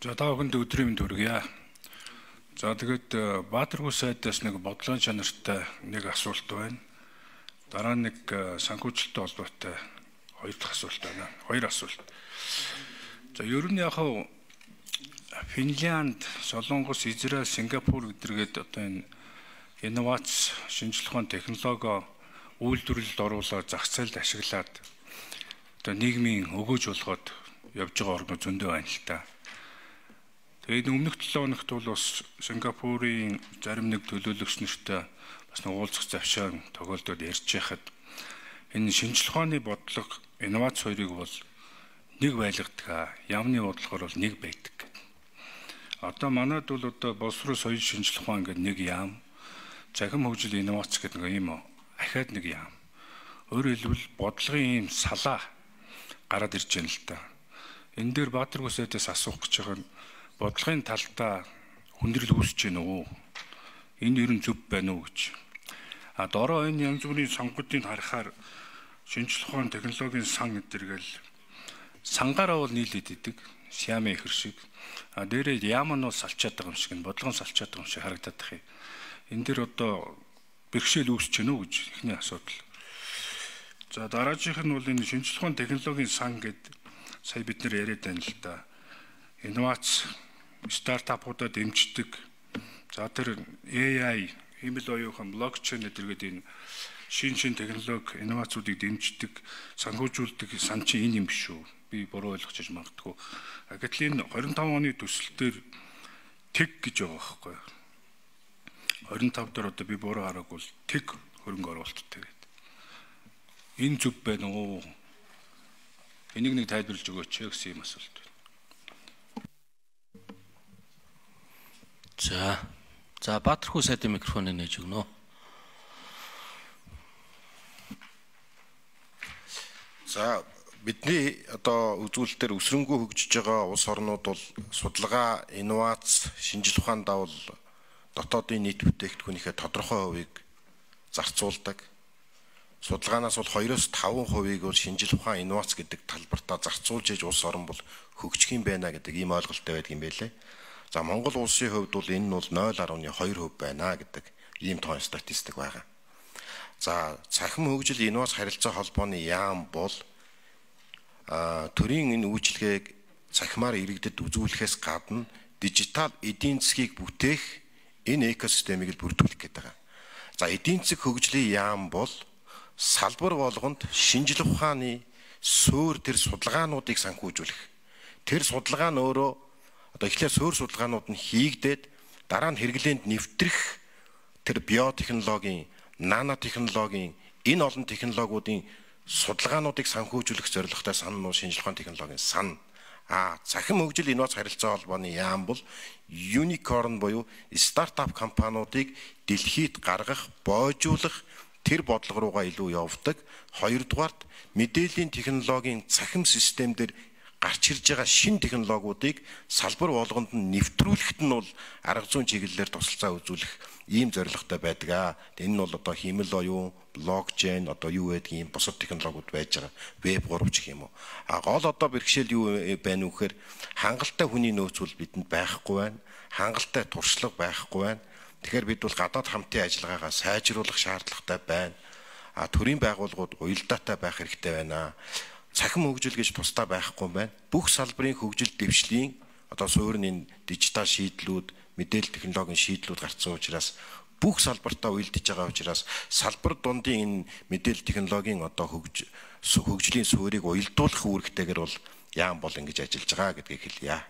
За та бүхэнд өдрийн мэнд хүргье. За тэгээд Баатаргүй сайдаас нэг бодлогын чанартай нэг асуулт байна. Дараа нэг санхүүжилттэй холбоотой хоёр дахь асуулт байна. Хоёр асуулт. За ер нь яг Финлянд, Солонгос, Израиль, Сингапур гэдэргээд одоо энэ инновац, шинжлэх ухааны технологи үйлдвэрлэлд оруулаад зах зээлд ашиглаад одоо нийгмийн өгөөж болгоод явж байгаа орнууд зөндөө байна л та. Тэгээд өмнөх 7 хоногт бол бас Сингапурын зарим нэг төлөөлөгч нартай бас нэг уулзах завшаан тохиолдоод ярьж байхад энэ шинжлэх ухааны бодлого, инновац хоёрыг бол нэг байлгадаг, яамны бодлогоор бол нэг байдаг. Одоо манайд бол одоо боловсрол соёл шинжлэх ухаан гэдэг нэг яам, цахим хөгжил инновац гэдэг нэг юм ахаад нэг яам. Өөрөөр хэлбэл бодлогын ийм салаа гараад ирж байна л та. Энэ дээр Баатаргүй сайдаас асуух гэж байгаа нь бодлогын талдаа хүндрэл үүсэж байна уу? Энэ ер нь зөв байна уу гэж. Дороо энэ янз бүрийн сонгуудыг харахаар шинжлэх ухааны технологийн сан гэдэргээл сангаараа бол нийлээд идэг, Сиамын ихэр шиг. Дээрээ яам нь салчаад байгаа юм шиг, бодлогон салчаад байгаа юм шиг харагдаад тах юм. Энэ дээр одоо бэрхшээл үүсэж байна уу гэж эхний асуудал. За дараагийнх нь бол энэ шинжлэх ухааны технологийн сан гэдэг сая бид нэр яриад байна л да. Инновац стартапуудаа дэмждэг. За тэр AI, хэмэл оюухан, блокчейн гэдэргээд энэ шин технологи, инновацуудыг дэмждэг, санхүүжүүлдэг сан чи энэ юм биш үү? Би буруу ойлгож магадгүй. Гэтэл энэ 25 оны төсөл дээр тэг гэж байгаа байхгүй юу? 25 дээр одоо би буруу хараагүй тэг хөрөнгө оруулалттай гэдэг. Энэ зөв байна уу? Энийг нэг тайлбарлаж өгөөч гэсэн юм асуулт байна. За Баатаргүй сайдын микрофоныг нээж өгнө. За бидний одоо үзүүлэлтээр өсрөнгөө хөгжиж байгаа улс орнууд бол судалгаа, инновац, шинжлэх ухаанд давал дотоодын нийт бүтээгдэхүүнийхээ тодорхой хувийг зарцуулдаг. Судалгаанаас бол 2-5% бол шинжлэх ухаан, инновац гэдэг талбартаа зарцуулж иж улс орн бол хөгжих юм байна гэдэг ийм ойлголттой байдаг юм байлээ. За Монгол улсын хувьд бол энэ нь бол 0.2% байна гэдэг ийм тоон статистик байгаа. За цахим хөгжил инновац харилцаа холбооны яам бол төрийн энэ үйлчилгээг цахимаар иргэдэд үзүүлэхээс гадна дижитал эдийн засгийг бүтээх энэ экосистемийг л бүрдүүлэх гэдэг байгаа. За эдийн засаг хөгжлийн яам бол салбар болгонд шинжлэх ухааны суурь тэр судалгаануудыг санхүүжүүлэх. Тэр судалгаа нь өөрөө одоо эхлээд суурь судалгаанууд нь хийгдээд дараа нь хэрэглээнд нэвтрэх тэр биотехнологийн, нанотехнологийн энэ олон технологиудын судалгаануудыг санхүүжүүлэх зорилготой сан нь шинжлэх ухааны технологийн сан. Цахим хөгжил инновац харилцаа холбооны яам бол unicorn буюу стартап компаниудыг дэлхийд гаргах, боожуулах тэр бодлого руугаа илүү явдаг. Хоёрдугаарт мэдээллийн технологийн цахим системдэр гарч ирж байгаа шин технологиудыг салбар болгонд нь нэвтрүүлэхэд нь бол арга зүйн чиглэлээр тусалцаа үзүүлэх ийм зорилготой байдаг. Энэ нь бол одоо хэмэл оюун, блокчейн, одоо юу гэдэг юм бусад технологиуд байж байгаа. Веб 3 гэх юм уу. Гол одоо бэрхшээл юу байна вэ гэхээр хангалттай хүний нөөц бол бидэнд байхгүй байна. Хангалттай туршлага байхгүй байна. Тэгэхээр бид бол гадаад хамтын ажиллагаагаа сайжруулах шаардлагатай байна. Төрийн байгууллагууд уялдаатай байх хэрэгтэй байна. Цахим хөгжил гэж тусдаа байхгүй байна. Бүх салбарын хөгжил дэвшлийн одоо суурийн дижитал шийдлүүд, мэдээлэл технологийн шийдлүүд гарсан учраас бүх салбартаа уялдаж байгаа учраас салбар дундын энэ мэдээлэл технологийн одоо хөгжлийн суурийг уялдуулах үүрэгтэйгээр бол яам бол ингэж ажиллаж байгаа гэдгийг хэлье.